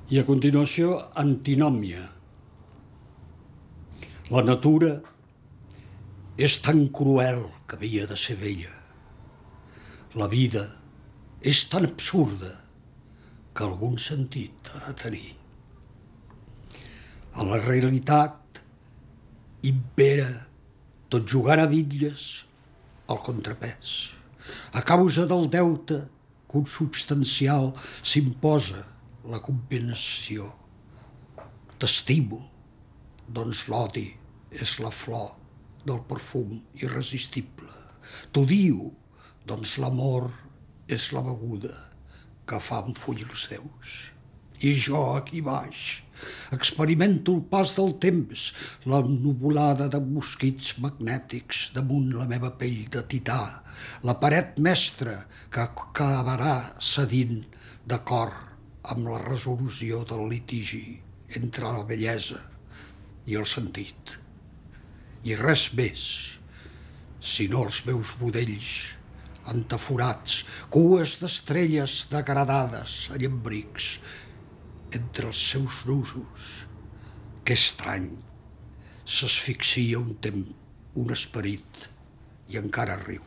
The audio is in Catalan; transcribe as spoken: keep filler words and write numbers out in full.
I a continuació, antinòmia. La natura és tan cruel que havia de ser bella. La vida és tan absurda que algun sentit ha de tenir. A la realitat impera, tot jugant a bitlles, el contrapès. A causa del deute consubstancial s'imposa la compensació. T'estimo, doncs l'odi és la flor del perfum irresistible. T'odio, doncs l'amor és la beguda que fa enfullir els déus. I jo, aquí baix, experimento el pas del temps, la nuvolada de mosquits magnètics damunt la meva pell de tità, la paret mestra que acabarà cedint d'acord amb la resolució del litigi entre la bellesa i el sentit. I res més, sinó els meus budells entaforats, cues d'estrelles degradades a llambrics, entre els seus nusos. Que estrany, s'asfixia un temps, un esperit, i encara riu.